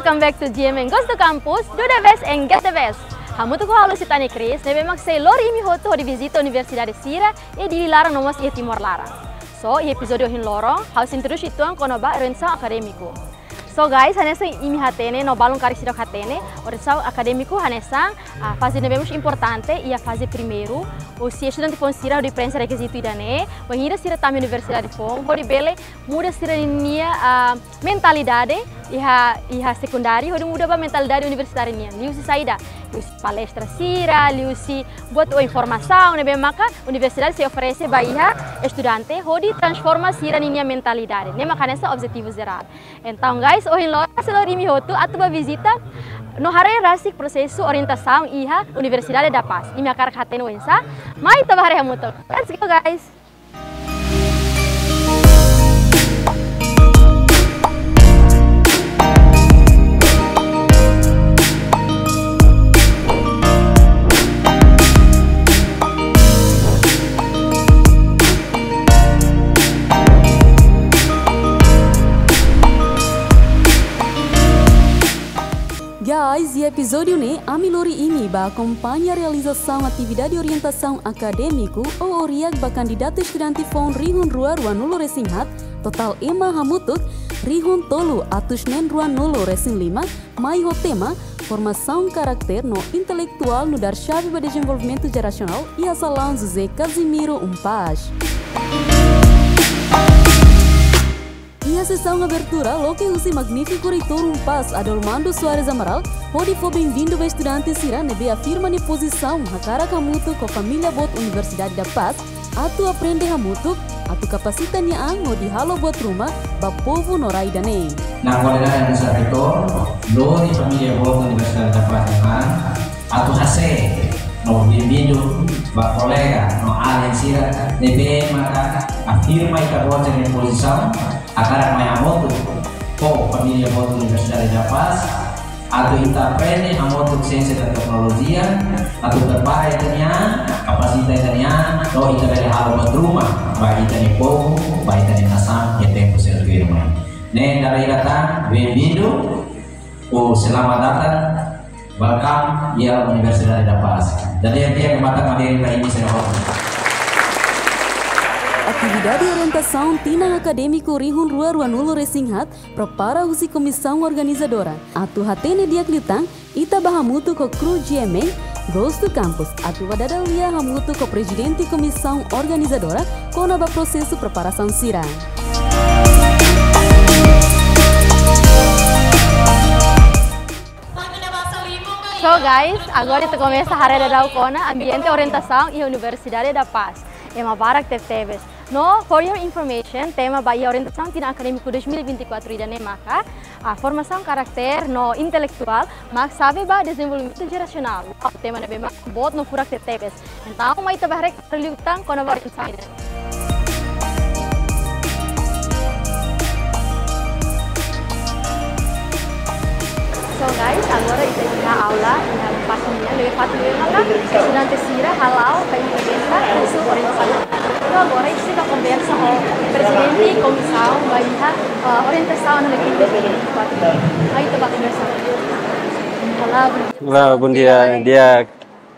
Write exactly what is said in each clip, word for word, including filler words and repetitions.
Welcome back to G M N Goes to Campus, do the best and get the best. Hamutuk ho ha'u Lusitania Cris, ne'ebé mak sei lori imi hotu hodi vizita universidade sira iha Dili laran no mós iha Timor laran. So, iha epizódiu ohin loron, ha'u sei introdús uitoan kona-ba orientasaun akadémiku. So guys, hanesan imi hatene, no balun karik seidauk hatene, orientasaun akadémiku hanesan, ah, faze ne'ebé mós importante iha faze primeiru, husi estudante foun sira hodi preenxe rekizitu ida-ne'e, bainhira sira tama iha universidade foun, hodi bele muda sira-nia, ah, mentalidade iha, iha sekundáriu, hodi muda ba mentalidade universitáriu nian. Liuhusi saida? Liuhusi palestra sira, liuhusi buat ou informasaun ne'ebé maka universidade sei oferese ba iha estudante, hodi transforma sira-nia mentalidade. Ne'e maka hanesan objetivu jerál. Entaun, guys, ohin loron sei lori imi hotu atu ba vizita no haree rasik prosesu orientasaun iha Universidade da Paz. Imi hakarak hatene oinsá? Mai ita ba haree hamutuk. Let's go, guys. Guys, iha epizódiu ne'e, ami lori imi ba akompaña realizasaun atividade orientasaun akadémiku ou ORIAK ba kandidatu estudante foun rihun rua ruanulu resin haat, totál ema hamutuk rihun tolu atus neen ruanulu resin lima, mai ho tema Formasaun Karakter no Intelektuál nu'udar Xave ba Dezenvolvimentu Jerasionál iha Salaun José Casimiro UNPAZ. Iha sesaun abertura, loke husi magnífiku Reitór UNPAZ, Adolmando Soares Amaral, hodi fó benvindu ba estudante sira ne'ebé afirma nia pozisaun hakarak hamutuk ho família boot Universidade da Paz, atu aprende hamutuk, atu kapasita nia an hodi halo buat ruma ba povu no rai ida-ne'e. Na kualidade hanesan Reitór, lori família boot Universidade da Paz nia an, atu hase'e no benvindu ba kolega no alin sira ne'ebé maka afirma ita-boot nia pozisaun hakarak mai hamutuk ho família boot Universidade da Paz, atu ita aprende hamutuk siénsia no teknolojia, atu prepara ita-nia an, kapasita ita-nia an, no ita bele halo buat ruma ba ita-nia povu, ba ita-nia nasaun iha tempu seluk tuirmai. Ne'e dala ida tan, benvindu, ou selamat datang, welcome iha Universidade da Paz. Jadi, dia kemata kami dari ini saya. Atividade orientasaun tinan akadémiku rihun rua ruanulu resin haat prepara husi komisaun organizadora. Atu hatene di'ak liután, ita ba hamutuk ho kru G M N Goes to Campus, atu ba dada lia hamutuk ho prezidente komisaun organizadora kona-ba prosesu preparasaun sira. So guys, agora ita komesa haree daudaun kona ambiente orientasaun iha Universidade da Paz. Ema barak tebetebes. No, for your information, tema ba iha orientasaun tinan akadémiku dois mil e vinte e quatro ida-ne'e maka, ah, formasaun karakter no intelektuál, mak xave ba dezenvolvimentu jerasionál. Uau, tema ne'ebé mak boot no furak tebetebes. Entaun, mai ita ba haree liután kona-ba orientasaun ida-ne'e. So guys, agora ita iha aula, iha pájina, lori fatin lori maka estudante sira hala'o ka implementa kursu orientasaun. Entaun agora ita sei konversa ho prezidente komisaun ba iha, eh, orientasaun iha dois mil e vinte e quatro. Mai ita ba konversa. Olá, bom dia. Olá, bom dia. Dia.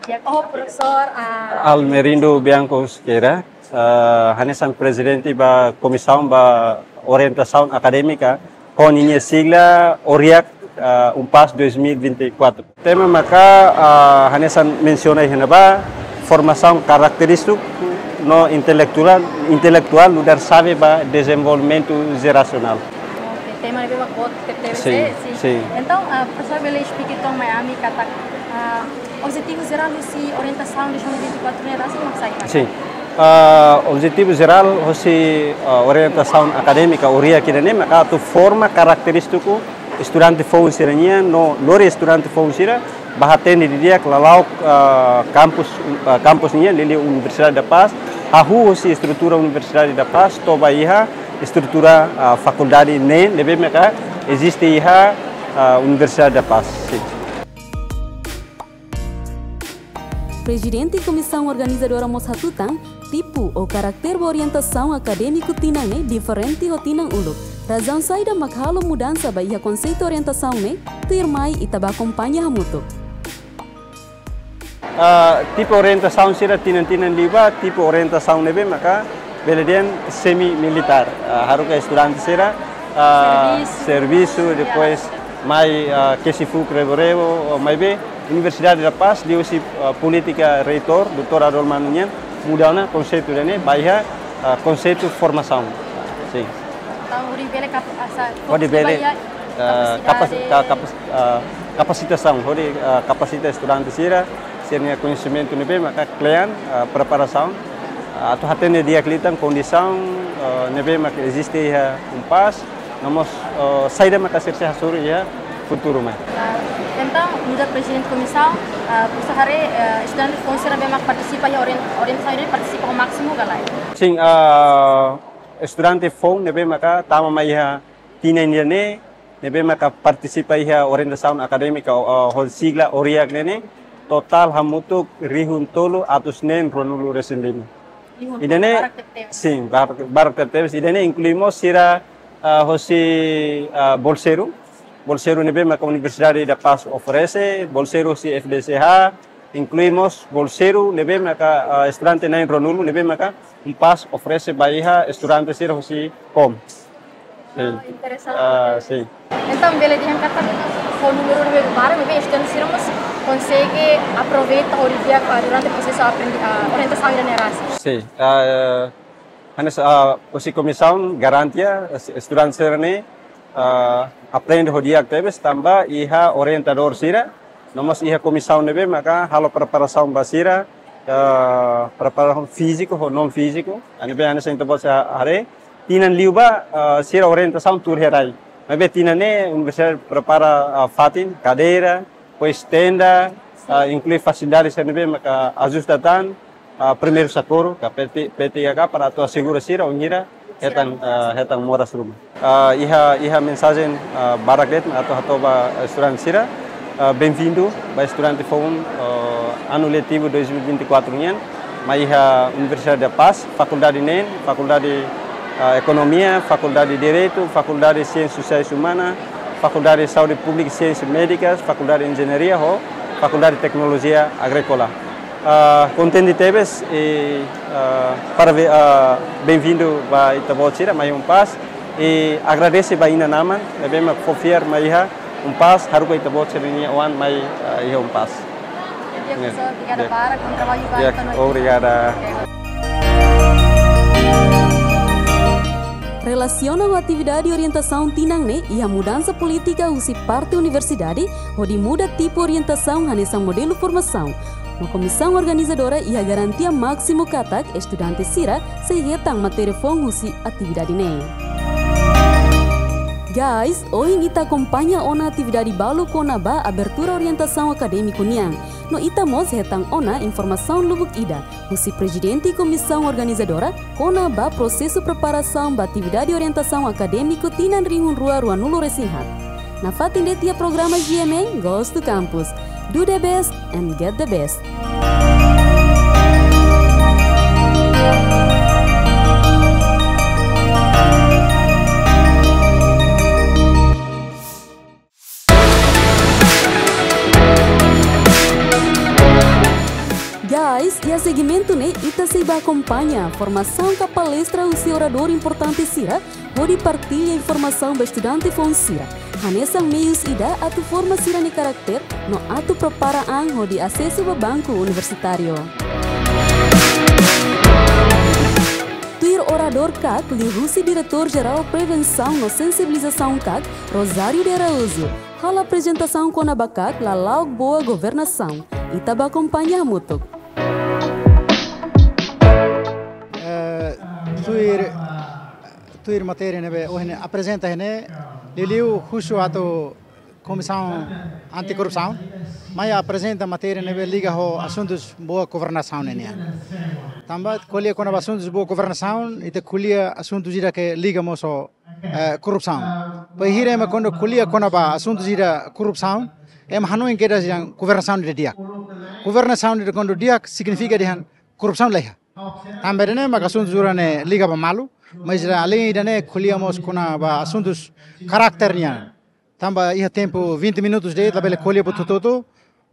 Dia, oh, profesór, ah, Almerindo Bianco Sequeira, ah, hanesan prezidente ba komisaun ba orientasaun akadémika, ho ninia sigla ORIAK, ah, UNPAZ dois mil e vinte e quatro. Tema maka, ah, hanesan mensiona iha ne'ebá, formasaun karakterístiku no intelektuál, intelektuál nu'udar xave ba dezenvolvimentu jerasionál. Oke, tema ne'ebé mak boot tebetebes. Sin, eh, sin. Sin. Entaun, ah, profesór bele esplika uitoan mai ami katak, ah, objetivu jerál husi orientasaun dois mil e vinte e quatro ne'e rasik mak saida? Sin. Ah, objetivu jerál husi, ah, orientasaun akadémika ORIAK ida-ne'e maka atu forma karakterístiku estudante foun sira-nian no lori estudante foun sira ba hatene didi'ak lala'ok, ah, kampus, ah, kampus nian, liuliu Universidade da Paz, hahú husi estrutura Universidade da Paz to'o ba iha estrutura, ah, fakuldade ne'e ne'ebé maka eziste iha, ah, Universidade da Paz. Sin. Prezidente komisaun organizadora mós hatutan, tipu ou karakter ba orientasaun akadémiku tinan ne'e diferente ho tinan uluk. Razaun saida mak halo mudansa ba iha konseitu orientasaun ne'e, tuirmai ita bá akompaña hamutuk. Ah, tipu orientasaun sira tinan-tinan liubá, tipu orientasaun ne'ebé maka bele dehan semi-militár. Ah, haruka estudante sira, ah, servisu, servisu, ya, depois mai, ah, kesi fuuk rebo-rebo, oh, maibé Universidade da Paz, liuhusi, ah, polítika reitór, doutór Adolmano nian, muda ona konseitu ida-ne'e, ba iha, ah, konseitu formasaun. Sin. Entaun, hodi bele kap-, asa, hodi bele, ba iha, ah, kapasidade, kapas-, ka-, kapas-, ah, kapasitasaun, hodi, ah, kapasita estudante sira, sira-nia koñesimentu ne'ebé maka kle'an, ah, preparasaun, ah, atu hatene di'ak liután kondisaun, ah, ne'ebé maka eziste iha UNPAZ, no mós, ah, saida maka sira sei hasoru iha futuru mai. Ah, entaun, nu'udar prezidente komisaun, ah, presiza haree, ah, estudante foun sira ne'ebé maka partisipa iha orien-, orientasaun ne'e partisipa ho másimu ka lae? Sin, ah, estudante foun ne'ebé maka tama mai iha tinan ida-ne'e, ne'ebé maka partisipa iha orientasaun akadémika, ah, ho sigla ORIAK ne'e, totál hamutuk rihun tolu atus neen ruanulu-resin-lima. Rihun tolu, ida-ne'e, barak tebes. Sin, barak, barak tebes. Ida-ne'e inklui mós sira, ah, hosi, ah, bolseiru. Bolseiru ne'ebé maka Universidade da Paz oferese, bolseiru hosi F D C H, inklui mós bolseiru ne'ebé maka, ah, estudante na'in ruanulu ne'ebé maka UNPAZ oferese ba iha estudante sira hosi COM. Sin. Ah, interesante. Ah, sin. Entaun, bele dehan katak ho númeru ne'ebé barak, maibé estudante sira mós konsege aproveita hodi di'ak, ah, durante prosesu aprendi-, ah, orientasaun ida-ne'e rasik. Sin. Ah, hanesan, ah, husi komisaun garante, ah, es-, estudante sira-ne'e, ah, aprende ho di'ak tebes tanba iha orientadór sira, no mós iha komisaun ne'ebé maka halo preparasaun ba sira, ah, preparasaun fíziku ho non fíziku, ah, ne'ebé hanesan ita-boot sira haree, tinan liubá, ah, sira orientasaun tuur iha rai. Maibé tinan ne'e universidade prepara, ah, fatin, kadeira, depois tenda, ah, inklui fasilidade sira ne'ebé maka ajusta tan, ah, primeiru sokorru, ka P T, P T H K, para atu asegura sira, wainhira hetan, ah, hetan moras ruma. Ah, iha, iha mensajen, ah, barak de'it atu hato'o ba estudante sira, ah, benvindu ba estudante foun, ah, anu letivu dois mil e vinte e quatro nian, mai iha Universidade da Paz, fakuldade neen, fakuldade, ah, Ekonomia, fakuldade Direitu, fakuldade Siénsias Sosiais Umanas, fakuldade Saúde Públika i Siénsias Médikas, fakuldade Enjeñaria ho fakuldade Teknolojia Agríkola. Ah, kontente tebes i, ah, parave-, ah, benvindu ba ita-boot sira mai UNPAZ i agradese ba inan-aman ne'ebé mak fó fiar mai iha UNPAZ haruka ita-boot sira-nia oan mai, ah, iha UNPAZ. Di'ak, profesór, obrigada barak, bom trabalho, ya, obrigada. Relasiona ho atividade orientasaun tinan ne'e, iha mudansa polítika husi parte universidade, hodi muda tipu orientasaun hanesan modelu formasaun. No komisaun organizadora iha garantia másimu katak estudante sira sei hetan matéria foun husi atividade ne'e. Guys, ohin ita akompaña ona atividade balu kona-ba abertura orientasaun akadémiku nian. No ita mós hetan ona informasaun lubuk ida husi prezidente komisaun organizadora kona-ba prosesu preparasaun ba atividade orientasaun akadémiku tinan rihun rua ruanulu-resin-haat. Nafatin de'it iha programa G M N Goes to Campus. Do the best and get the best. Guys, iha segmentu ne'e ita sei bá akompaña formasaun ka palestra husi oradór importante sira, hodi partilla informasaun ba estudante foun sira. Hanesan meius ida atu forma sira-nia karakter, no atu prepara an hodi asesu ba banku universitáriu. Tuir oradór kak, liuhusi Diretór Jerál Prevensaun no Sensibilizasaun kak, Rosário de Araújo, halo aprezentasaun kona-ba kak lala'ok boa governasaun. Ita bá akompaña hamutuk. Eh, tuir, tuir matéria ne'ebé ohin aprezenta iha ne'e, liuliu husu atu Komisaun Antikorrupsaun mai aprezenta matéria ne'ebé liga ho asuntus boa governasaun nian. Tanba ko'alia kona-ba asuntus boa governasaun, ita ko'alia asuntus ida ke liga mós ho, eh, korrupsaun. Bainhira ema kuandu ko'alia kona-ba asuntus ida korrupsaun, ema hanoin kedas dehan governasaun ida di'ak. Governasaun ida kuandu di'ak signifika dehan korrupsaun la iha. Tanba ida-ne'e maka asuntu sira-ne'e liga ba malu, mas ida alin ida-ne'e ko'alia mós kona-ba asuntus karakter nian. Tanba iha tempu vinte minutos de'it labele ko'alia ba hotu-hotu,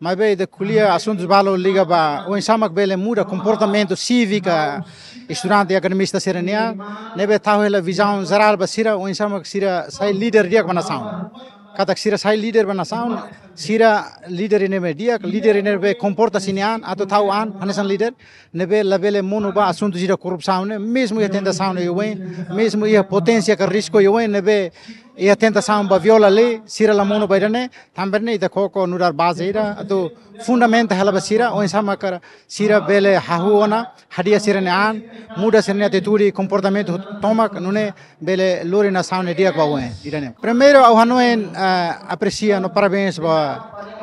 maibé ita ko'alia asuntus balu liga ba oinsá mak bele muda komportamentu sívika estudante akademista sira-nian, ne'ebé tau hela vizaun jerál ba sira, oinsá mak sira sai líder di'ak ba nasaun. Katak sira sai líder ba nasaun, sira líder ne'ebé di'ak, líder ne'ebé komporta sira-nia an, atu tau an hanesan líder, ne'ebé labele monu ba asuntu sira korrupsaun ne'e, mezmu iha tentasaun ne'e oioin, mezmu iha poténsia ka risku oioin, ne'ebé iha tentasaun ba viola lei, sira la monu ba ida-ne'e, tanba ne'e ita koko nu'udar baze ida, atu fundamenta hela ba sira, oinsá mak sira bele hahú ona, hadi'a sira-nia an, muda sira-nia atitude, komportamentu tomak, nune'e bele lori nasaun ne'e di'ak ba oin, ida-ne'e. Primeiru, ha'u hanoin, eh, apresia no parabéns ba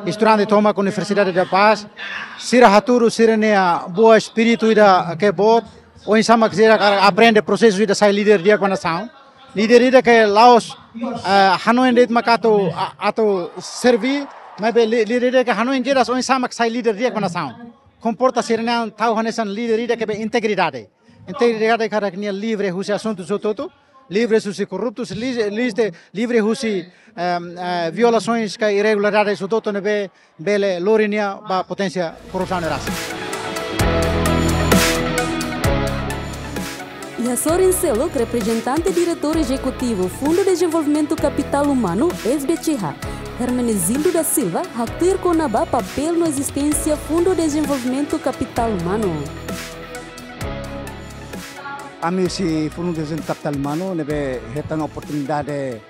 estudante tomak Universidade da Paz, sira hatudu sira-nia boa espíritu ida ke boot, oinsá mak sira hakarak aprende prosesu ida sai líder di'ak ba nasaun. Líder ida ke la'ós, eh, hanoin de'it mak atu, a-, atu serví, maibé lí-, líder ida ke hanoin jelas oinsá mak sai líder di'ak ba nasaun. Komporta sira-nia an tau hanesan líder ida ke be integridade. Integridade katak nia livre husi asuntus hotu-hotu, livre husi korruptus, li-, liste, livre husi, em, eh, violasoens ka irregularidades hotu-hotu ne'ebé bele lori nia ba poténsia korrupsaun ne'e rasik. Iha sorin seluk, reprezentante diretór ezekutivu Fundu Dezenvolvimentu Kapitál Umanu, S D C H, Hermenegildo da Silva, haktuir kona-ba papél no ezisténsia Fundu Dezenvolvimentu Kapitál Umanu. Ami husi Fundu Dezenvolvimentu Kapitál Umanu ne'ebé hetan oportunidade,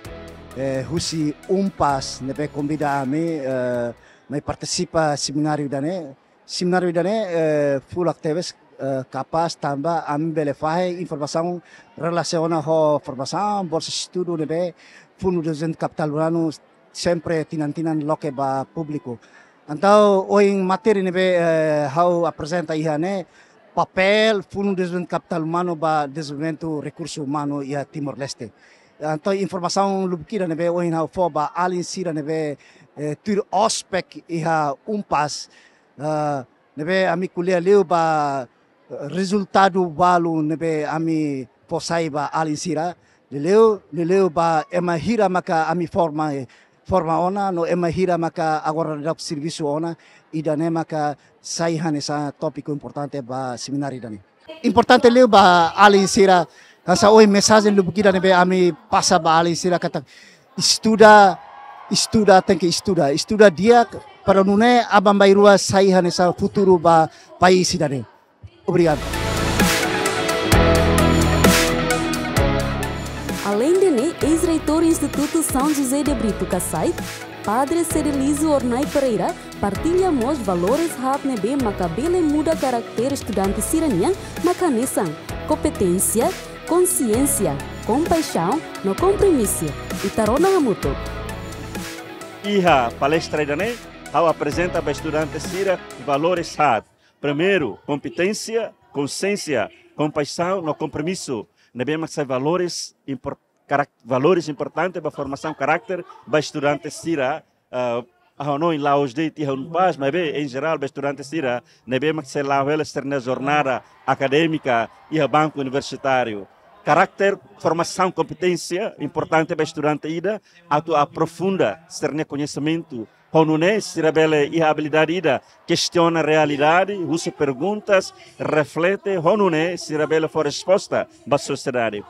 eh, husi UNPAZ ne'ebé konvida ami, eh, mai partisipa semináriu ida-ne'e. Semináriu ida-ne'e, eh, furak tebes, eh, kapás tanba ami bele fahe informasaun relasiona ho formasaun, bolsa estudu ne'ebé Fundu Dezenvolvimentu Kapitál Umanu sempre tinan-tinan loke ba públiku. Entaun, ohin matéria ne'ebé, eh, ha'u aprezenta iha ne'e, papél Fundu Dezenvolvimentu Kapitál Umanu ba dezenvolvimentu rekursu umanu iha Timor-Leste. Entaun, informasaun lubuk ida ne'ebé ohin ha'u fó ba alin sira ne'ebé, eh, tuir ospek iha UNPAZ, eh, ne'ebé ami ko'alia liu ba, eh, rezultadu balu ne'ebé ami fó sai ba alin sira, liuliu, liuliu ba ema hira maka ami forma, forma ona, no ema hira maka agora daudaun servisu ona, ida-ne'e maka sai hanesan tópiku importante ba semináriu ida-ne'e. Importante liu ba alin sira, hanesan ohin mensajen lubuk ida ne'ebé ami pasa ba alin sira katak estuda, estuda, tenke estuda. Estuda di'ak para nune'e aban-bainrua sai hanesan futuru ba país ida-ne'e. Obrigadu. Aleinde ne'e, eis-reitór Institutu São José de Brito Casai, Padre Cedelizo Hornai Pereira, partilla mós valores haat ne'ebé maka bele muda karakter estudante sira-nian, mak hanesan kompeténsia, konsiénsia, kompaixaun no kompromisu. Ita rona hamutuk. Iha palestra ida-ne'e, ha'u aprezenta ba estudante sira valores haat. Primeiru, kompeténsia, konsiénsia, kompaixaun no kompromisu. Ne'ebé mak sai valores impor-, karak-, valores importante ba formasaun karakter ba estudante sira, ah, ha'u hanoin la'ós de'it iha UNPAZ, maibé, em geral, ba estudante sira ne'ebé mak sei la'o hela sira-nia jornada akadémika iha banku universitáriu. Karakter, formasaun, kompeténsia importante ba estudante ida atu aprofunda sira-nia koñesimentu, ho nune'e sira bele iha abilidade ida kestiona realidade, husu perguntas, reflete, ho nune'e sira bele fó resposta ba sosiedade.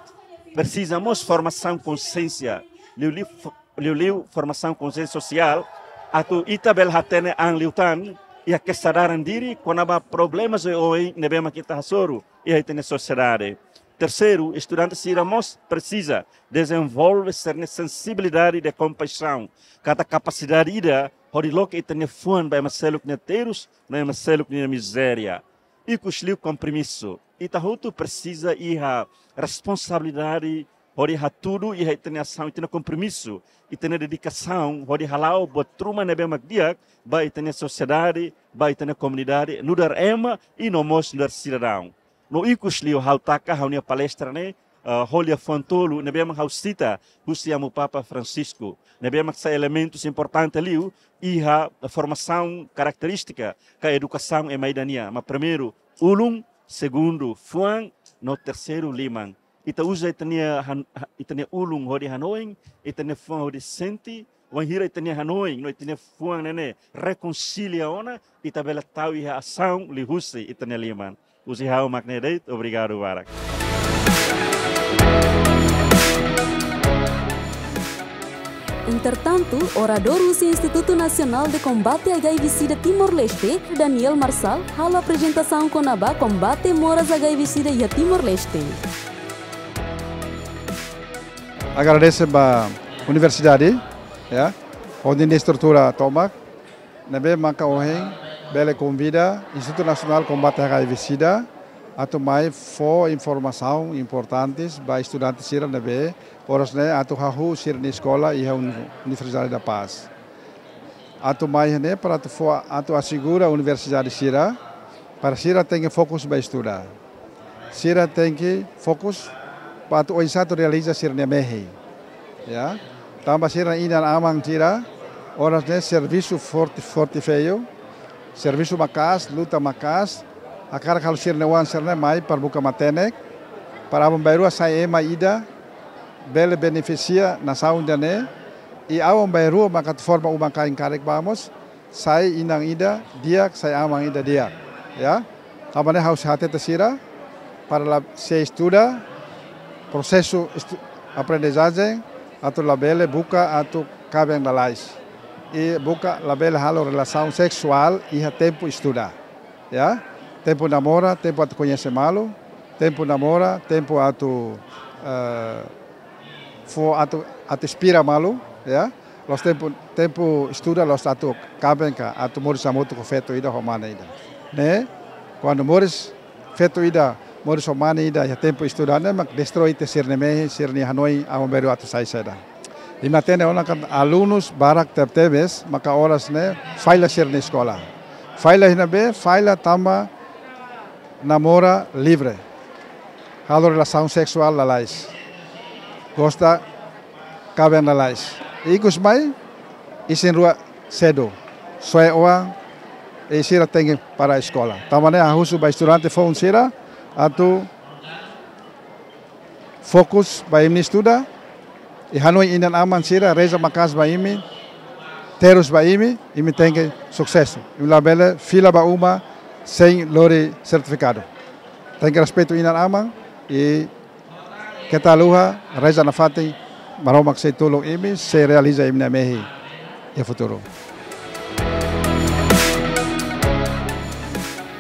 Presiza mós formasaun konsiénsia, liuliu fo-, liuliu formasaun konsiénsia sosiál, atu ita bele hatene an liután, iha kesadaran diri kona-ba problemas oioin ne'ebé mak ita hasoru iha ita-nia sosiedade. Terseiru, estudante sira mós presiza dezenvolve sira-nia sensibilidade de kompaixaun, katak kapasidade ida hodi loke ita-nia fuan ba ema seluk nia terus no ema seluk nia mizéria. Ikusliu, kompromisu. Ita hotu presiza iha responsabilidade hodi hatudu iha ita-nia asaun, ita-nia kompromisu, ita-nia dedikasaun hodi hala'o buat ruma ne'ebé mak di'ak ba ita-nia sosiedade, ba ita-nia komunidade, nu'udar ema i no mós nu'udar sidadaun. No ikusliu, ha'u taka ha'u-nia palestra ne'e, eh, ho liafuan tolu ne'ebé mak ha'u sita husi Amu Papa Francisco, ne'ebé mak sai elementus importante liu iha formasaun karakterístika ka edukasaun ema ida nian. Mak primeiru, ulun, segundu fuan, no terseiru liman. Ita uza ita-nia han-, ha-, ita-nia ulun hodi hanoin, ita-nia fuan hodi sente, wainhira ita-nia hanoin no ita-nia fuan ne'e rekonsilia ona, ita bele tau iha asaun liuhusi ita-nia liman. Husi ha'u mak ne'e de'it, obrigadu barak. Entretantu, oradór husi Instituto Nacional de Combate H I V SIDA Timor-Leste, Daniel Marçal, halo aprezentasaun kona-ba kombate moras H I V SIDA iha Timor-Leste. Agradese ba universidade, ya, hodi estrutura tomak, ne'ebé maka ohin bele konvida Instituto Nacional Combate H I V SIDA atu mai fó informasaun importantes ba estudante sira ne'ebé oras ne'e atu hahú sira-nia eskola iha Uni-, Universidade da Paz. Atu mai ne'e para atu fó, atu asegura universidade sira, para sira tenke fokus ba estuda. Sira tenke fokus ba atu oinsá atu realiza sira-nia mehi. Ya. Tanba sira inan-aman sira, oras ne'e servisu forte, forte feiu, servisu maka'as, luta maka'as, hakarak halo sira-nia oan sira-ne'e mai para buka matenek, para aban-bainrua sai ema ida, bele benefisia nasaun ida-ne'e, i aban-bainrua maka atu forma uma-kain karik ba mós, sai inan ida di'ak, sai aman ida di'ak. Ya. Tanba ne'e ha'u sei hatete sira, para la sei estuda, prosesu estu-, aprendizajen, atu labele buka atu kaben lalais. I buka labele halo relasaun seksuál iha tempu estuda. Ya. Tempu namora, tempu atu koñese malu, tempu namora, tempu atu, eh, fó atu, atu inspira malu, ya. La'ós tempu, tempu estuda, la'ós atu kaben ka, atu moris hamutuk ho feto ida ho mane ida. Ne'e, kuandu moris feto ida, moris ho mane ida, iha tempu estuda ne'e, mak destroi tiha sira-nia mehi, sira-nia hanoin, aban-bainrua atu sai saida. Imi hatene ona katak alunus barak tebetebes, maka oras ne'e, falla sira-nia eskola. Falla iha ne'ebé, falla tanba namora livre. Halo relasaun seksuál lalais. Gosta kaben lalais. Ikus mai, isin-rua sedu. Soe oan, i sira tenke para eskola. Tanba ne'e ha'u husu ba estudante foun sira, atu fokus ba imi-nia estuda, i hanoin inan-aman sira, reza maka'as ba imi, terus ba imi, imi tenke susesu. Imi labele fila ba uma sein lori sertifikadu. Tenke respeitu inan-aman, i keta haluha, reza nafatin, Maromak sei tulun imi, sei realiza imi-nia mehi iha futuru.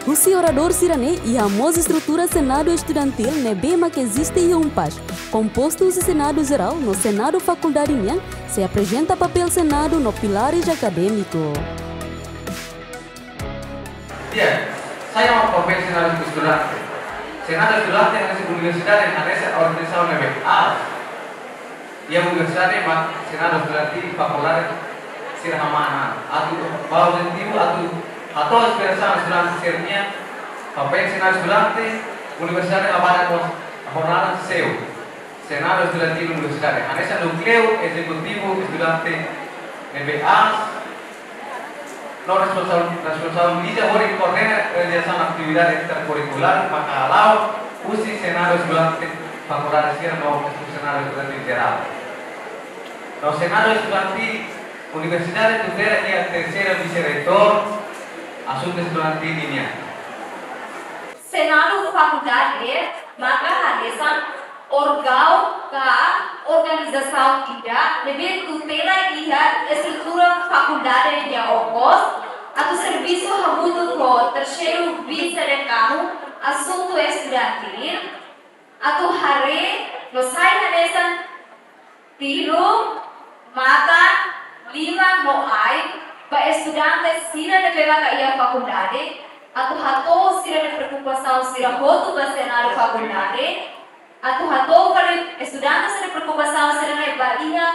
Husi oradór sira-ne'e, iha mós estrutura Senadu Estudantil ne'ebé mak eziste iha UNPAZ, kompostu husi Senadu Jerál no Senadu Fakuldade nian, sei aprezenta papél Senadu no pilares akadémiku. Di'ak, saida mak papél Senadu Estudante? Senadu Estudante hanesan universidade, hanesan organizasaun ne'ebé aas. Iha universidade mak Senadu Estudantil fakuldade sira hamana. Atu ba objetivu atu hato'o inspirasaun estudante sira-nian, papél Senadu Estudante, universidade halo ba mós jornada seu. Senadu Estudantil Universidade, hanesan núkleu ezekutivu estudante ne'ebé aas, no responsa-, responsabiliza hodi koordena realizasaun atividade estrakurrikulár maka hala'o husi Senadu Estudante Fakuldade sira no Senadu Estudantil Jerál. No Senadu Estudantil Universidade tutela iha terseira vise-reitór asuntu estudantil nian. Senadu Fakuldade maka hanesan órgaun ka organizasaun ida ne'ebé tutela iha estrutura fakuldade nian okos, atu servisu hamutuk ho terseiru vise-dekanu asuntu estudantil, atu haree no sai hanesan tilun, matan, liman no ain ba estudante sira ne'ebé maka iha fakuldade, atu hato'o sira-nia preokupasaun sira hotu ba Senadu Fakuldade, atu hato'o fali estudante sira-nia preokupasaun sira-ne'e ba iha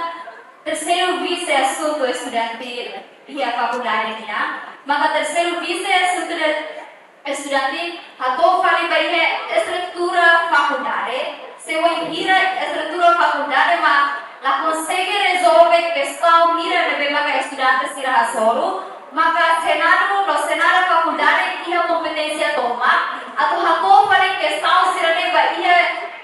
terseiru vise asuntu estudantil iha fakuldade nian, maka terseiru vise asuntu de estudantil hato'o fali ba iha estrutura fakuldade, se wainhira estrutura fakuldade mak la konsege rezolve kestaun hira ne'ebé maka estudante sira hasoru, Maka Senadu no Senada fakuldade iha kompeténsia tomak atu hato'o fali kestaun sira-ne'e ba iha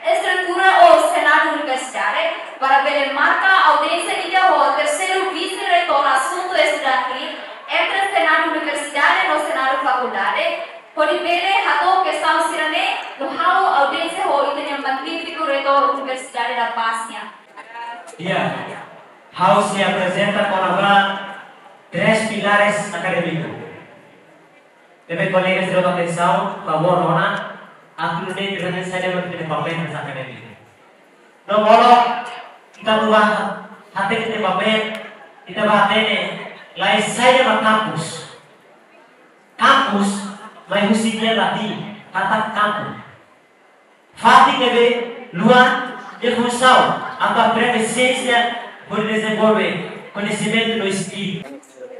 estrutura ou Senadu universidade, para bele marka audiénsia ida ho terseiru vise-reitór asuntu estudantil entre Senadu universidade no Senadu fakuldade, hodi bele hato'o kestaun sira-ne'e no halo audiénsia ho ita-nia magnífiku reitór Universidade da Paz nian. Di'ak, ha'u sei aprezenta kona-ba três pilares akadémiku. Ne'ebé kolega sira atensaun, favór ona, atu nune'e ita-nia saida mak ita-nia papél hanesan akadémiku. No molok, ita atu bá hatene ita-nia papél, ita bá hatene, la'ós saida mak kampus. Kampus, mai husi lian latin, kata campo. Fatin ne'ebé luan, nia funsaun atu aprende siénsia, hodi dezenvolve koñesimentu no skill.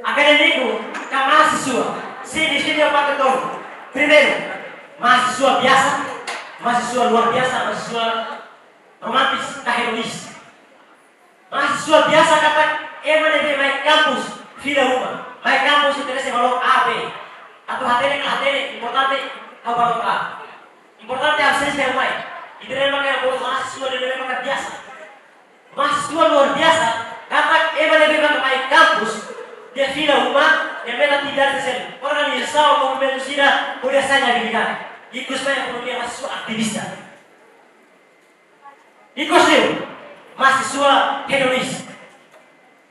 Akadémiku ka mahasiswa, sei divide ba parte tolu. Primeiru, mahasiswa biasa, mahasiswa luar biasa, mahasiswa romantis ka hedonis. Mahasiswa biasa katak ema ne'ebé mai kampus fila uma. Mai kampus interese valór A, B. Atu hatene ka la hatene, importante ha'u valór A. Importante absensia mai. Ida-ne'e mak ha'u bolu mahasiswa ne'ebé maka biasa. Mahasiswa luar biasa, katak ema ne'ebé maka mai kampus, nia fila uma, nia meta atividade sosiál. Organizasaun, movimentu sira, hodi hasa'e nia atividade. Ikus mai ekonomia mahasiswa aktivista. Ikus liu, mahasiswa hedonis.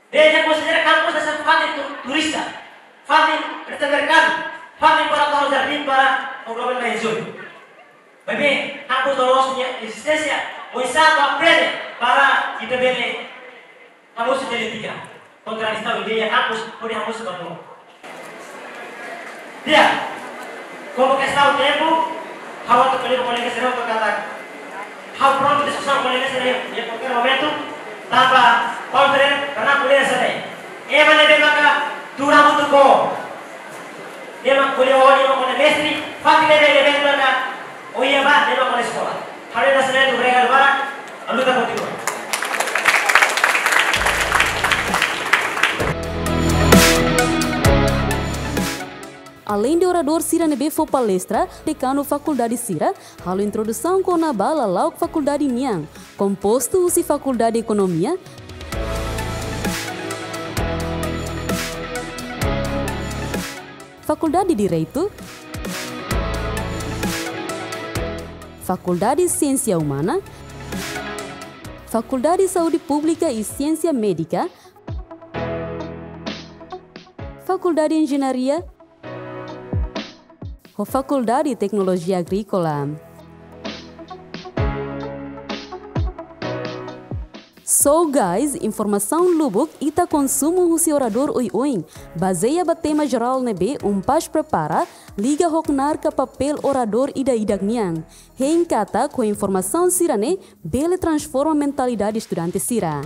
Nia konsidera kampus hanesan fatin tu-, turista, fatin resta merkadu, fatin para tau jardín para o globo mai jun. Maibé, kampus loloos nia ezisténsia, oinsá atu aprende para ita bele hamosu ita-nia etika. Kontradisaun ideia kampus, hodi hamosu ba tomak. Di'ak, komu kestaun tempu, ha'u atu ko'alia ba kolega sira hotu katak ha'u prontu diskusaun ho kolega sira iha kualkér momentu, tanba Paul Freire pernah ko'alia hanesan ne'e: ema ne'ebé maka tuur hamutuk ho ema ko'alia ho nia mak kona mestre, fatin ne'ebé nia bele maka oinsá ba nia mak kona eskola. Haree hanesan ne'e, obrigadu barak, a luta continua. Aleinde oradór sira ne'ebé fó palestra, dekanu fakuldade sira halo introdusaun kona-ba lala'ok fakuldade nian, kompostu husi Fakuldade Ekonomia, Fakuldade Direitu, Fakuldade Siénsia Umana, Fakuldade Saúde Públika i Siénsia Médika, Fakuldade Enjeñaria, ho Fakuldade Teknolojia Agríkola. So guys, informasaun lubuk ita konsumu husi oradór oioin, bazeia ba tema jerál ne'ebé UNPAZ prepara, liga ho knaar ka papél oradór ida-idak nian. Hein katak ho informasaun sira-ne'e bele transforma mentalidade estudante sira.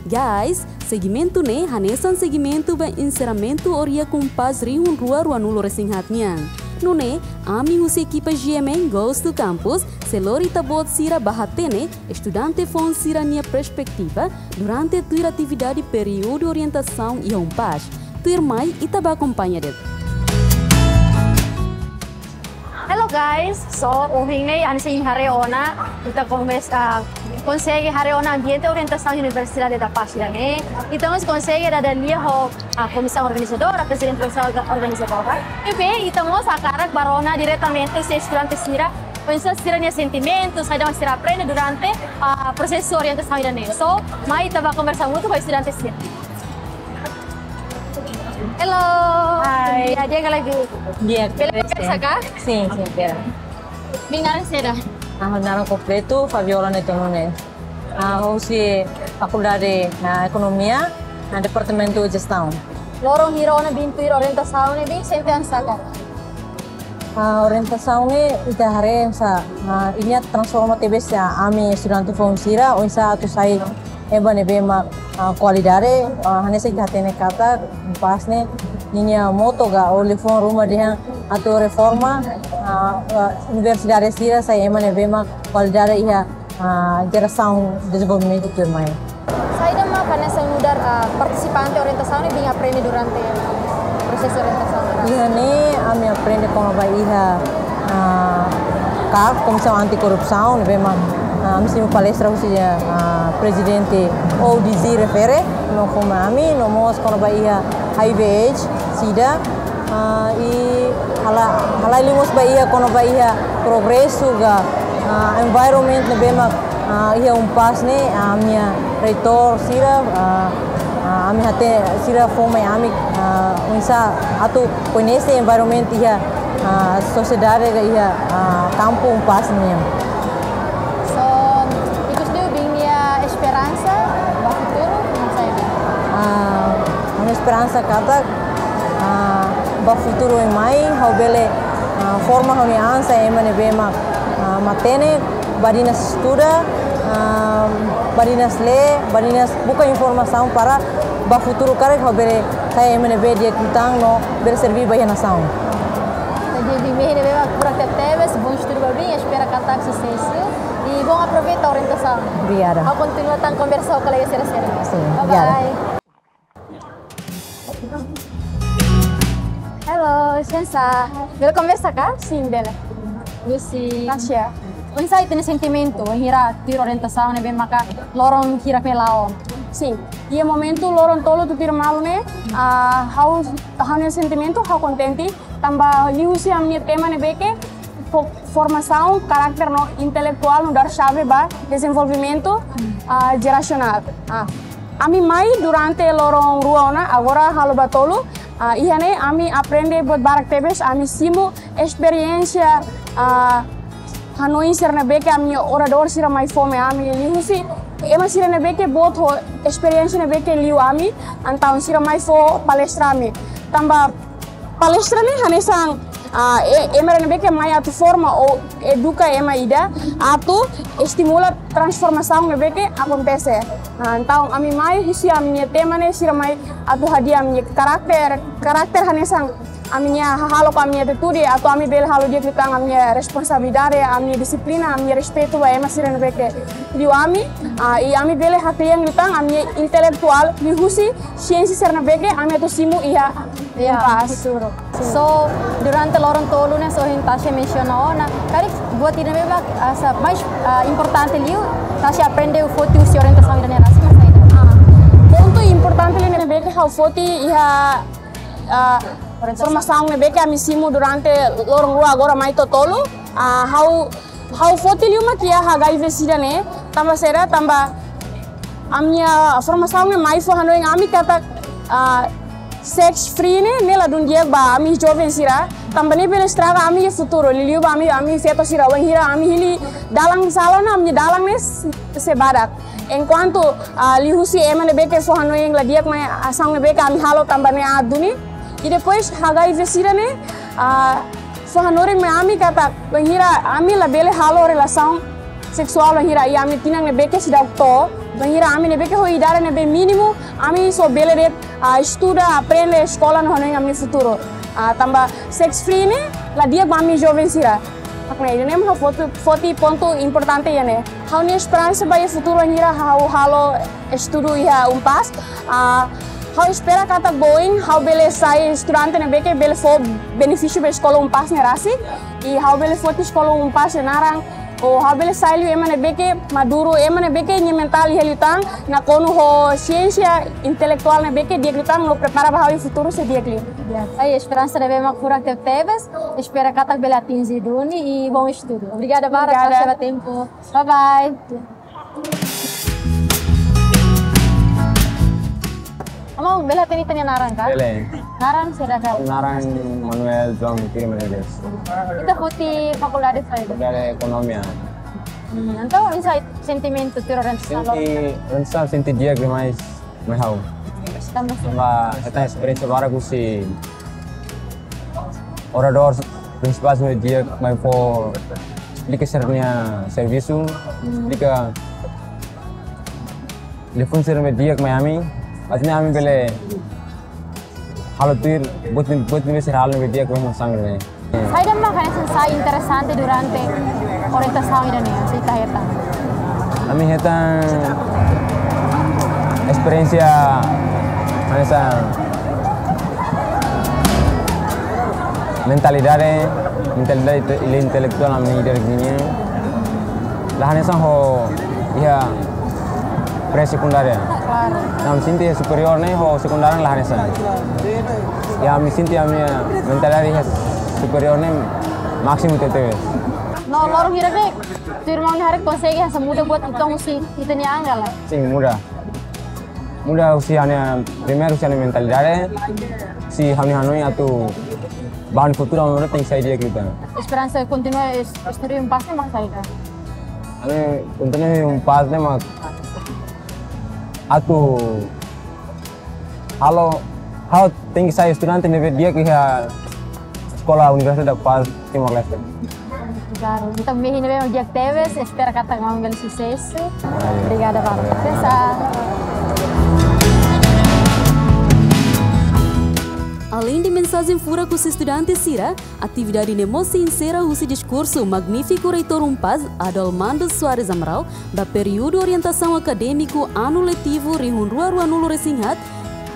Guys, segimentu ne'e hanesan segimentu ba enserramentu Oria Kumpas rihun rua ruanulu resin haat nian. Nune'e, ami husi ekipa G M N Goes to Campus sei lori ita-boot sira ba hatene estudante foun sira-nia perspetiva durante tuir atividade períodu orientasaun iha UNPAZ. Tuirmai ita bá akompaña de'it. Hello guys, so ohin ne'e ami sei haree ona, ita komesa, ah, konsege haree ona ambiente orientasaun Universidade da Paz ne'e. Ita mós konsege dada lia ho, ah, komisaun organizadora, prezidente komisaun orga-, organizadora. Ne'ebé ita mós hakarak bá rona diretamente husi estudante sira, oinsá sira-nia sentimentu, saida mak sira aprende durante, ah, prosesu orientasaun ida-ne'e. So, mai ita bá konversa hamutuk ho estudante sira. Hello. Hai. Di'ak, di'ak ka lae? Di'ak, bele di'ak, konversa ka? Sin, sin, bele. Imi naran saida? Ha'u-nia naran kompletu Fabiola Neto Nunes. Ah, husi Fakuldade, ah, Ekonomia, ah, Departamentu Jestaun. Loron hira ona bin tuir orientasaun ne'e, bin sente oinsá ka? Ah, orientasaun ne'e ita haree hanesan, ah, nia transforma tebes ami estudante foun sira, oinsá atu sai ema ne'ebé mak, ah, kualidade, ah, hanesan ita hatene katak UNPAZ ne'e ninia moto ka ou liafuan ruma dehan atu reforma, ah, ah, universidade sira sai ema ne'ebé mak kualidade iha, ah, jerasaun dezenvolvimentu tuirmai. Saida mak hanesan nu'udar, ah, partisipante orientasaun ne'ebé aprende durante prosesu orientasaun? Iha ne'e ami aprende kona-ba iha, ah, KAK, Komisaun Anti Korrupsaun, ne'ebé mak, ah, ami simu palestra husi, ah, prezidente O D Z refere, no fó mai ami, no mós kona-ba iha HIV AIDS, SIDA, ah, i halai, halai liu mós ba iha kona-ba iha progresu ka, ah, environment ne'ebé mak, ah, iha UNPAZ ne'e, ah, ami-nia reitór sira, ah, ah, ami hatene sira fó mai ami, ah, oinsá atu koñese environment iha, ah, sosiedade ka iha, ah, kampu UNPAZ nian. So, ikus liu Bin nia esperansa ba futuru, no saida? Ah, ha'u-nia esperansa katak, ah, ba futuru oin mai, ha'u bele, ah, forma ha'u-nia an sai ema ne'ebé mak, ah, matenek, badinas estuda, ah, badinas lee, badinas buka informasaun para ba futuru karik ha'u bele sai ema ne'ebé di'ak liután no bele serve ba iha nasaun. Jadi, Bin ne'ebé mak furak tebetebes, bom estudu ba Bin, espera katak susesu. I bom aproveita orientasaun. Obrigada. Ha'u kontinua tan konversa ho kolega sira-sira. Sin, obrigada. Bye bye. Hello, Shensa. Bele konversa ka? Sin, bele. Lucy. Tasha. Oinsá ita-nia sentimentu, hira tuir orientasaun ne'ebé maka loron hira feen la'o? Sin. Iha momentu loron tolu tutuir malu ne'e, ah, ha'u, ha'u-nia sentimentu, ha'u kontente, tanba liuhusi ami-nia tema ne'ebé ke fo-, formasaun karakter no intelektuál nu'udar xave ba dezenvolvimentu, ah, jerasionál. Ah, ami mai durante loron rua ona, agora halo ba tolu, ah, iha ne'e ami aprende buat barak tebes, ami simu esperiénsia, ah, hanoin sira ne'ebé ke ami-nia oradór sira mai fó mai ami liuhusi ema sira ne'ebé ke boot ho esperiénsia ne'ebé ke liu ami, entaun sira mai fó palestra ami. Tanba palestra ne'e hanesan, ah, e-, ema ne'ebé ke mai atu forma ou eduka ema ida atu estimula transformasaun ne'ebé ke akontese. Ah, entaun ami mai husi ami-nia tema ne'e sira mai atu hadi'a ami-nia karakter, karakter hanesan ami-nia hahalok, ami-nia atitude, atu ami bele halo di'ak liután ami-nia responsabilidade, ami-nia dixiplina, ami-nia respeitu ba ema sira ne'ebé ke liu ami, ah, i ami bele haklean liután ami-nia intelektuál liuhusi siénsia sira ne'ebé ke ami atu simu iha UNPAZ. Futuru. So, durante loron tolu ne'e, so, ohin Tasha mensiona ona, karik buat ida ne'ebé mak, ah, sa-, mais, ah, importante liu, Tasha aprende foti husi orientasaun ida-ne'e rasik, mak saida? Ah, pontu importante liu ne'ebé ke ha'u foti iha, ah, formasaun ne'ebé ke ami simu durante loron rua agora mai to'o tolu, ah, ha'u, ha'u foti liu mak iha HIV SIDA ne'e, tanba saida, tanba ami-nia formasaun ne'e mai fó hanoin ami katak, ah, sex free ne'e, ne'e ladún di'ak ba ami joven sira, tanba ne'e bele estraga ami-nia futuru, liuliu ba ami, ami feto sira, wainhira ami hili dalan sala ona, ami-nia dalan ne'e sei, sei badak. Enkuantu, ah, liuhusi ema ne'ebé ke fó hanoin la di'ak mai asaun ne'ebé ke ami halo tanba ne'e aat duni. I depois HIV SIDA ne'e, ah, fó hanorin mai ami katak, wainhira ami labele halo relasaun seksuál, wainhira iha ami-nia tinan ne'ebé ke seidauk to'o, wainhira ami ne'ebé ke ho idade ne'ebé mínimu, ami só bele de'it, ah, estuda, aprende, eskola no hanoin ami-nia futuru. Ah, tanba sex free ne'e la di'ak ba ami joven sira. Mak ne'e, ida-ne'e mak ha'u foti, foti pontu importante iha ne'e. Ha'u-nia esperansa ba iha futuru wainhira ha'u halo estudu iha UNPAZ. Ah, ha'u espera katak ba oin ha'u bele sai estudante ne'ebé ke bele fó benefísiu ba eskola UNPAZ ne'e rasik. I ha'u bele foti eskola UNPAZ nia naran, ou ha'u bele sai liu ema ne'ebé ke maduru, ema ne'ebé ke nia mentál iha liután, nakonu ho siénsia intelektuál ne'ebé ke di'ak liután, no prepara ba ha'u iha futuru sei di'ak liu. Ya, ai esperansa ne'ebé mak furak tebetebes, espera katak bele atinje duni i bom estudu. Obrigada barak, obrigada, Tasha, ba tempu. Bye bye. Maun, bele hatene ita-nia naran ka? Bele. Naran saida ka? Naran Manuel João Pires Menezes. Ita foti fakuldade saida? Fakuldade Ekonomia. Hmm, entaun, oinsá sentimentu tuir orientasaun? Sente, orientasaun sente di'ak demais, mai ha'u. Tanba saida? Tanba ita esperiénsia barak husi oradór prinsipál sira di'ak mai fó, esplika sira-nia servisu, esplika, Liafuan sira ne'ebé di'ak mai ami, maibé ami bele halo tuir, buat, buat ne'ebé sira halo ne'ebé di'ak mai hanesan ne'e. Saida mak hanesan sai interesante durante orientasaun ida-ne'e, se ita hetan? Ami hetan esperiénsia hanesan mentalidade, mentalidade inte-, intelektuál ami-nia ida-ne'e. La hanesan ho iha pré-sekundária. Klaru. Ami sente iha superiór ne'e ho sekundária la hanesan. Ya, ami sente ami-nia mentalidade iha superiór ne'e másimu tebetebes. No loron hirak ne'e, tuirmai ne'e hakarak konsege hanesan muda buat ita husi ita-nia an ka lae? Sin, muda. Muda husi ha'u-nia, primeiru husi ha'u-nia mentalidade, se ha'u-nia hanoin atu ba futuru ami tenke sai di'ak liután. Esperansa kontinua es-, estuda UNPAZ ne'e mak saida? Ami kontinua UNPAZ ne'e mak atu halo, ha'u tenke sai estudante ne'ebé di'ak iha Eskola Universidade da Paz Timor-Leste. Klaru, entaun ami ne'e di'ak tebes, espera katak ami bele susesu. Obrigada, Baro. Susesu. Aleinde mensajen furak husi estudante sira, atividade ne'e mós sei ensera husi diskursu magnífiku Reitór UNPAZ, Adalmando Soares Amaral, ba períodu orientasaun akadémiku anu letivu rihun rua ruanulu-resin-haat,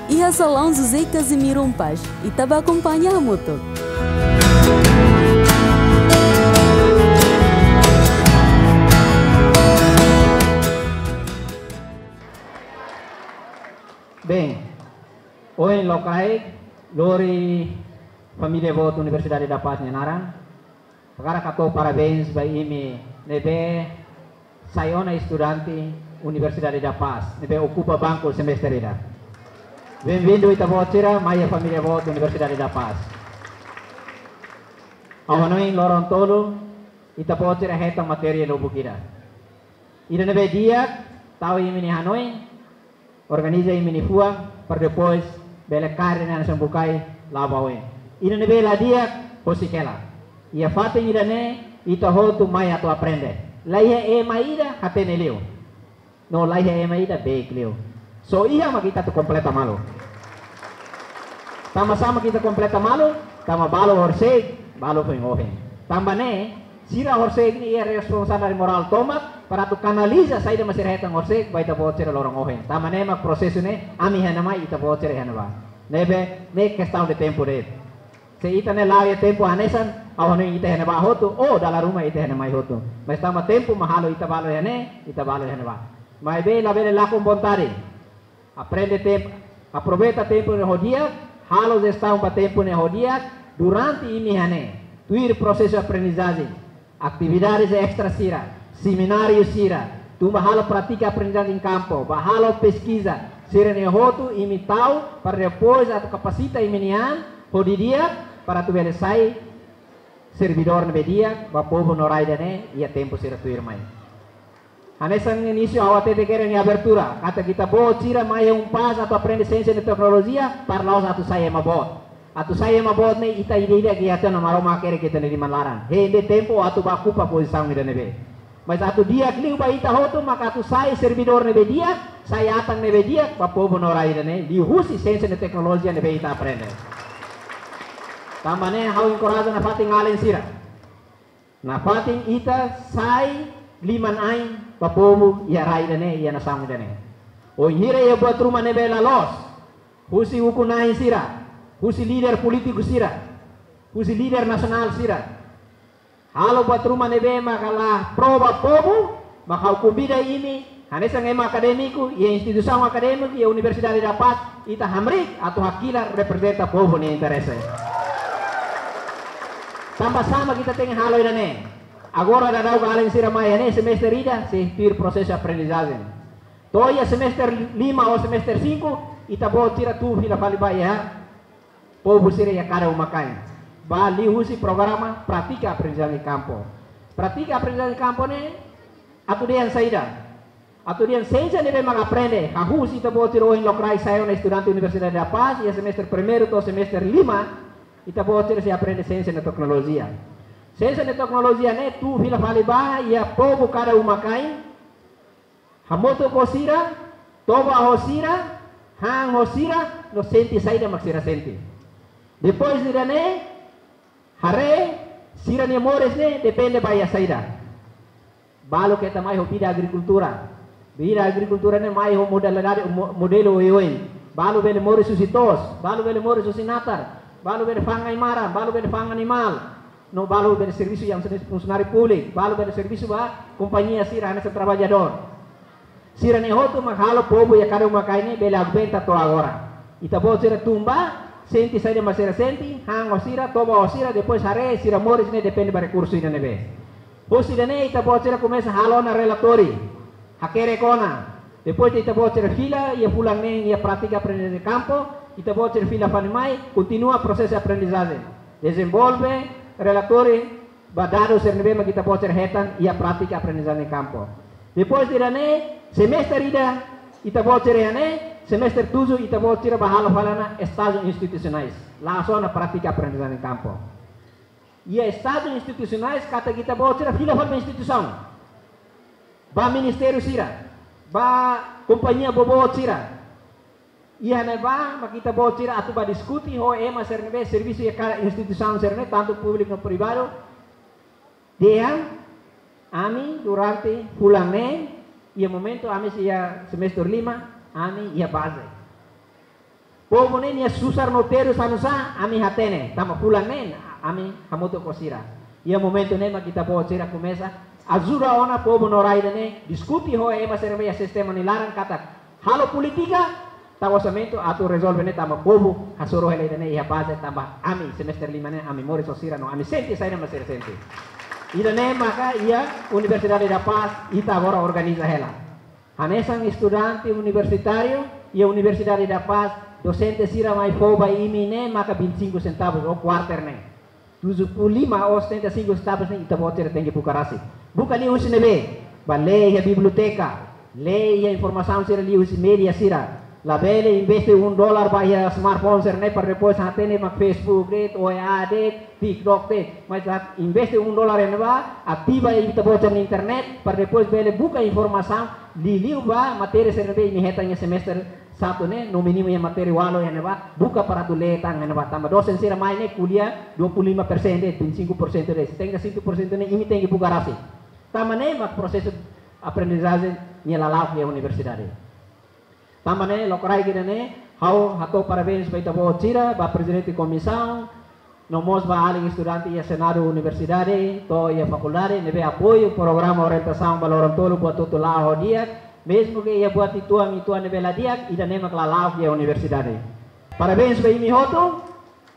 iha salaun José Casimiro UNPAZ. Ita bá akompaña hamutuk. Bem, ohin lokraik, lori família boot Universidade da Paz nia naran, hakarak hato'o parabéns ba imi ne'ebé sai ona estudante Universidade da Paz, ne'ebé okupa banku semestre ida. Benvindu ita-boot sira mai iha família boot Universidade da Paz. Ha'u hanoin loron tolu, ita-boot sira hetan matéria lubuk ida. Ida ne'ebé di'ak, tau imi-nia hanoin, organiza imi-nia fuan, para depois bele kaer ne'e hanesan bukae la'o ba oin. Ida ne'ebé la di'ak, husik hela. Iha fatin ida-ne'e, ita hotu mai atu aprende. La iha ema ida hatene liu. No la iha ema ida beik liu. Só iha mak ita atu kompleta malu. Tanba sá mak ita kompleta malu, tanba balu horisehik, balu foin ohin. Tanba ne'e, sira horisehik ne'e iha responsabilidade morál tomak para atu kanaliza saida mak sira hetan horisehik ba ita-boot sira loron ohin. Tanba ne'e mak prosesu ne'e ami iha ne'ebá, ita-boot sira iha ne'ebá. Ne'ebé, ne'e kestaun de tempu de'it. Se ita ne'e la'o iha tempu hanesan, ha'u hanoin ita iha ne'ebá hotu, ou dala ruma ita iha ne'e mai hotu. Mas tanba tempu mak halo ita balu iha ne'e, ita balu iha ne'ebá. Maibé labele lakon vontade. Aprende tempu, aproveita tempu ne'e ho di'ak, halo jestaun ba tempu ne'e ho di'ak, durante imi iha ne'e, tuir prosesu aprendizajen, atividades extra sira, semináriu sira, tun ba halo prátika aprendizajen kampu, ba halo peskiza, sira-ne'e hotu imi tau, para depois atu kapasita imi-nia an, ho di'ak, para atu bele sai servidór ne'ebé di'ak ba povu no rai ida-ne'e, iha tempu sira tuirmai. Hanesan inísiu ha'u hatete kedas iha abertura, katak ita-boot sira mai iha UNPAZ atu aprende siénsia no teknolojia, para la'ós atu sai ema boot. Atu sai ema boot ne'e ita ida-idak iha tiha ona Maromak hakerek ita-nia liman laran. Hein de'it tempu atu bá okupa pozisaun ida ne'ebé. Mas atu di'ak liu ba ita hotu maka atu sai servidór ne'ebé di'ak, sai atan ne'ebé di'ak ba povu no rai ida-ne'e, liuhusi siénsia no teknolojia ne'ebé ita aprende. Tanba ne'e ha'u enkoraja nafatin alin sira. Nafatin ita sai liman-ain ba povu iha rai ida-ne'e, iha nasaun ida-ne'e. Wainhira iha buat ruma ne'ebé la loos, husi ukun-na'in sira, husi líder polítiku sira, husi líder nasionál sira, halo buat ruma ne'ebé maka la pro ba povu, maka ha'u konvida imi, hanesan ema akadémiku, iha instituisaun akadémiku, iha Universidade da Paz, ita hamriik atu hakilar reprezenta povu nia interese. Tanba sá mak ita tenke halo ida-ne'e. Agora daudaun alin sira mai iha ne'e semestre ida, sei tuir prosesu aprendizajen. To'o iha semestre lima ou semestre cinco, ita-boot sira tun fila fali ba iha povu sira iha kada uma-kain. Ba liuhusi programa prátika aprendizajen kampu. Prátika aprendizajen kampu ne'e atu dehan saida? Atu dehan siénsia ne'ebé mak aprende, hahú husi ita-boot sira ohin lokraik sai ona estudante Universidade da Paz, iha semestre primeiru to'o semestre lima, ita-boot sira sei aprende siénsia no teknolojia. Siénsia no teknolojia ne'e tun fila fali ba iha povu kada uma-kain, hamutuk ho sira, Toba ho sira, han ho sira, no sente saida mak sira sente. Depois ida-ne'e, haree, sira-nia moris ne'e depende ba iha saida. Balu keta mai ho vida agrikultura. Vida agrikultura ne'e mai ho modalidade, mo-, modelu oioin. Balu bele moris husi to'os, balu bele moris husi natar, balu bele fa'an ai-maran, balu bele fa'an animál. No balu bele servisu hanesan funsionáriu públiku, balu bele servisu ba kompañia sira hanesan traballadór. Sira-ne'e hotu mak halo povu iha kada uma-kain ne'e bele aguenta to'o agora. Ita-boot sira tun ba, sente saida mak sira sente, han ho sira, toba ho sira, depois haree sira moris ne'e depende ba rekursu ida ne'ebé. Husi ida-ne'e ita-boot sira komesa halo ona relatóriu, hakerek ona. Depois de ita-boot sira fila iha fulan neen iha prátika aprendizajen kampu, ita-boot sira fila fali mai, kontinua prosesu aprendizajen. Dezenvolve relatóriu ba dadus sira ne'ebé mak ita-boot sira hetan iha prátika aprendizajen kampu. Depois de ida-ne'e, semestre ida, ita-boot sira iha ne'e, semestre tujuh ita-boot sira bá halo fali ona estájiu institusionais. La'ós ona prátika aprendizajen kampu. Iha estájiu institusionais katak ita-boot sira fila fali ba instituisaun. Ba ministériu sira, ba kompañia boboot sira. Iha ne'ebá mak ita-boot sira atu bá diskute ho ema sira ne'ebé servisu iha kada instituisaun sira-ne'e, tantu públiku no privadu. Dehan, ami durante fulan neen, iha momentu ami sei iha semestre lima, ami iha baze. Povu ne'e nia susar no terus hanu'usá, ami hatene, tanba fulan neen, ami hamutuk ho sira. Iha momentu ne'e mak ita-boot sira komesa ajuda ona povu no rai ida-ne'e, diskute ho ema sira ne'ebé iha sistema nia laran katak halo polítika, tau orsamentu atu rezolve ne'e tanba povu hasoru hela ida-ne'e iha baze, tanba ami semestre lima ne'e ami moris ho sira no ami sente saida mak sira sente. Ida-ne'e maka iha Universidade da Paz ita agora organiza hela. Hanesan estudante universitáriu iha Universidade da Paz, dosente sira mai fó ba imi ne'e maka vinte e cinco centavos ou quarter ne'e. Tujuh puluh lima ou setenta e cinco centavos ne'e ita-boot sira tenke buka rasik. Buka liuhusi ne'ebé? Bá lee iha biblioteka, lee iha informasaun sira liuhusi média sira. Labele investe um dólar ba iha smartphone sira-ne'e para depois hatene mak Facebook de'it, O E A de'it, TikTok de'it. Mas atu investe um dólar iha ne'ebá, ativa ita-boot sira-nia internet para depois bele buka informasaun liuliu ba matéria sira ne'ebé imi hetan iha semestre satu ne'e, no mínimu iha matéria ualu iha ne'ebá, buka para atu lee tan iha ne'ebá. Tanba dosen sira mai ne'e ko'alia dua puluh lima persen de'it, vinte e cinco por cento de'it, setenta e cinco por cento ne'e imi tenke buka rasik. Tanba ne'e mak prosesu aprendizajen nia lala'ok iha universidade. Tanba ne'e, lokraik ida-ne'e, ha'u hato'o parabéns ba ita-boot sira, ba prezidente komisaun, no mós ba alin estudante iha Senadu Universidade, to'o iha fakuldade, ne'ebé apoiu programa orientasaun ba loron tolu buat hotu la'o ho di'ak, mezmu ke iha buat uitoan-uitoan ne'ebé la di'ak, ida-ne'e mak lala'ok iha universidade. Parabéns ba imi hotu,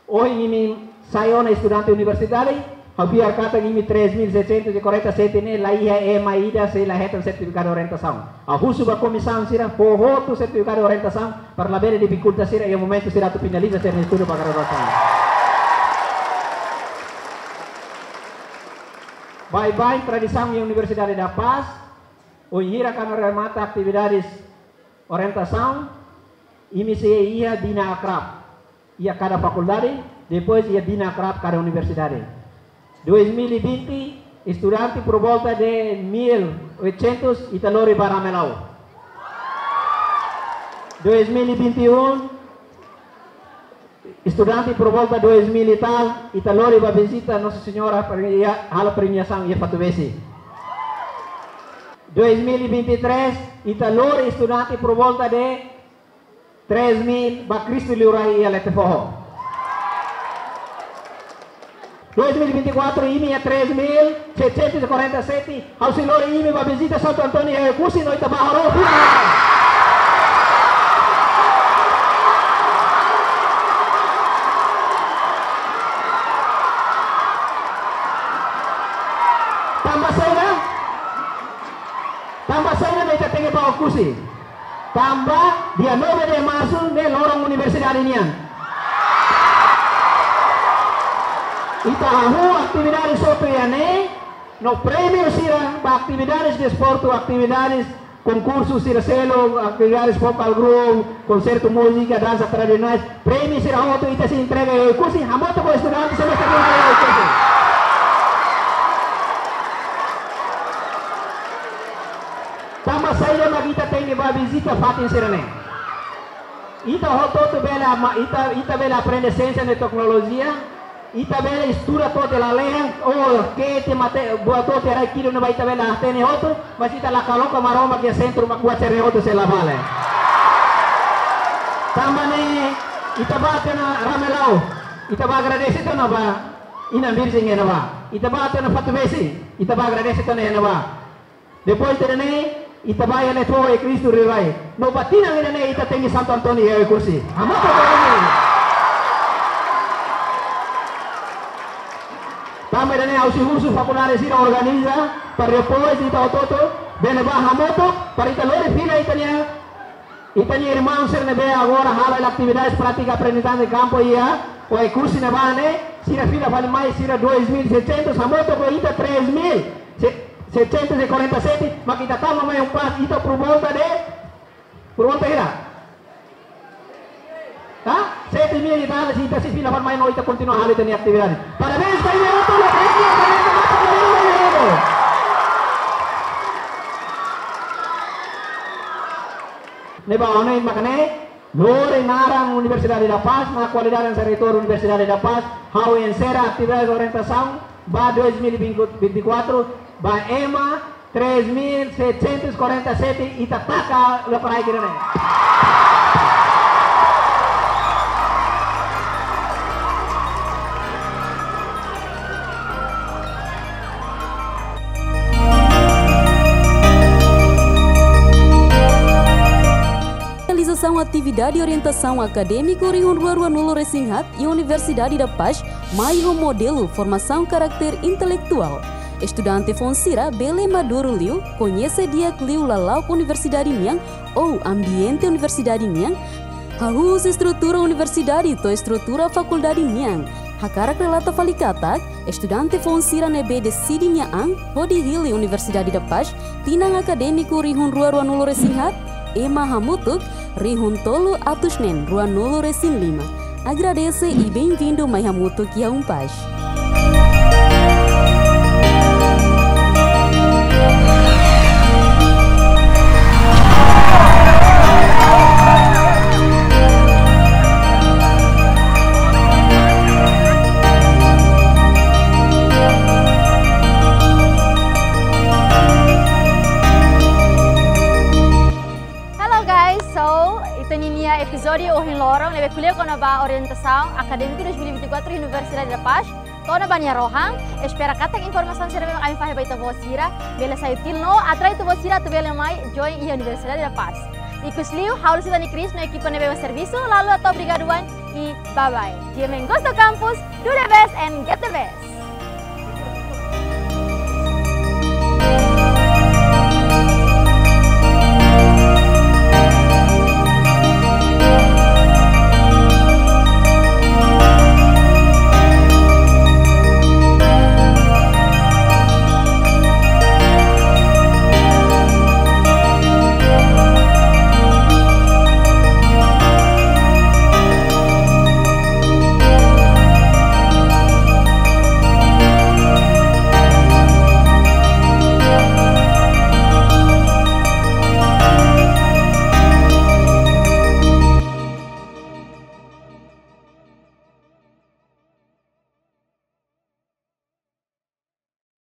ohin imi sai ona estudante universitáriu, ha'u fiar katak imi três mil seiscentos e quarenta e sete ne'e la iha ema ida sei la hetan sertifikadu orientasaun. Ha'u husu ba komisaun sira fó hotu sertifikadu orientasaun para labele difikulta sira iha momentu sira atu finaliza sira-nia estudu ba graduasaun. Baibain tradisaun iha Universidade da Paz, ohin hira kuandu remata atividades orientasaun, imi sei iha Dina Akrab iha kada fakuldade, depois iha Dina Akrab kada universidade. Dois mil e vinte, estudante por volta de mil e oitocentos ita lori ba Ramelau. Dois mil e vinte e um, estudante por volta dois mil e tal, ita lori ba vizita Nossa Senhora para iha halo premiasaun iha Fatubesi. Dois mil e vinte e três, ita lori estudante por volta de três mil ba Cristo Liurai iha Letefoho. Dois mil e vinte e quatro, imi iha três mil setecentos e quarenta e sete, ha'u sei lori imi ba vizita Santo António iha Oekusi no ita bá harohan. Tanba saida? Tanba saida mak ita tenke bá Oekusi? Tanba dia nove de março ne'e loron universidade nian. Ita hahú atividade hotu iha ne'e, no prémiu sira ba atividades desportu, atividades konkursu sira seluk, atividades vocal group, konsertu múzika, dansa tradisionais, prémiu sira hotu ita sei entrega iha Oekusi, hamutuk ho estudante semestre lima iha Oekusi. Tanba saida mak ita tenke Bá vizita fatin sira-ne'e. Ita hotu-hotu bele ama-, ita, ita bele aprende siénsia no teknolojia, ita bele estuda to'o lalehan, oh, ke te mate, buat to'o rai kidu ne'ebá ita bele hatene hotu, mas ita la koloka Maromak iha sentru mak buat sira-ne'e hotu sei la vale. Tanba ne'e, ita bá tiha ona Ramelau, ita bá agradese tiha ona ba Inan Virjen iha ne'ebá. Ita bá tiha ona Fatubesi, ita bá agradese tiha ona iha ne'ebá. Depois de ne'e, ita bá iha Oekusi Tureirai. No ba tinan ida-ne'e ita tenke Santo António iha Oekusi. Hamutuk ho imi. Tanba ida-ne'e ha'u sei husu fakuldade sira organiza, para depois ita hotu-hotu bele bá hamutuk, para ita lori fila ita-nia, ita-nia irmaun sira ne'ebé agora halo atividade prátika aprendizajen de kampu iha Oekusi ne'ebá ne'e, sira fila fali mai sira dois mil e seiscentos, hamutuk ho ita três mil. Se-, seiscentos e quarenta e sete, mak ita tama mai Ampás, ita por volta de, por volta hira? Hã? Sete mil e tal, se ita sei fila fali mai no ita kontinua halo ita-nia atividade. Parabéns ba imi hotu, no, ne'ebá ona mak ne'e, lori naran Universidade da Paz, na kualidade hanesan reitór Universidade da Paz, ha'u enserra atividade orientasaun ba dois mil e vinte e quatro, ba ema três mil setecentos e quarenta e sete, ita taka lokraik ida-ne'e. Realizasaun atividade orientasaun akadémiku rihun rua ruanulu-resin-haat iha Universidade da Paz, mai ho modelu formasaun karakter intelektuál. Estudante foun sira bele maduru liu, koñese di'ak liu lala'ok universidade nian, ou ambiente universidade nian, hahú husi estrutura universidade to'o estrutura fakuldade nian. Hakarak relata fali katak, estudante foun sira ne'ebé deside nia an hodi hili Universidade da Paz, tinan akadémiku rihun rua ruanulu-resin-haat, ema hamutuk rihun tolu atus neen ruanulu-resin-lima. Agradese i bem-vindu mai hamutuk iha Unpaz. Hello guys, so ita-nia epizódiu ohin loron ne'ebé ko'alia kona-ba orientasaun akadémiku dois mil e vinte e quatro Universidade da Paz to'o ona ba nia rohan. Espera katak informasaun sira ne'ebé ami fahe ba ita-boot sira bele sai útil no atrai ita-boot sira atu bele mai join iha Universidade da Paz. Ikusliu, ha'u Lucila Nicris no ekipa ne'ebé mak servisu, halo atu obrigadu wa'in i bye bye. G M N goes to campus, do the best and get the best.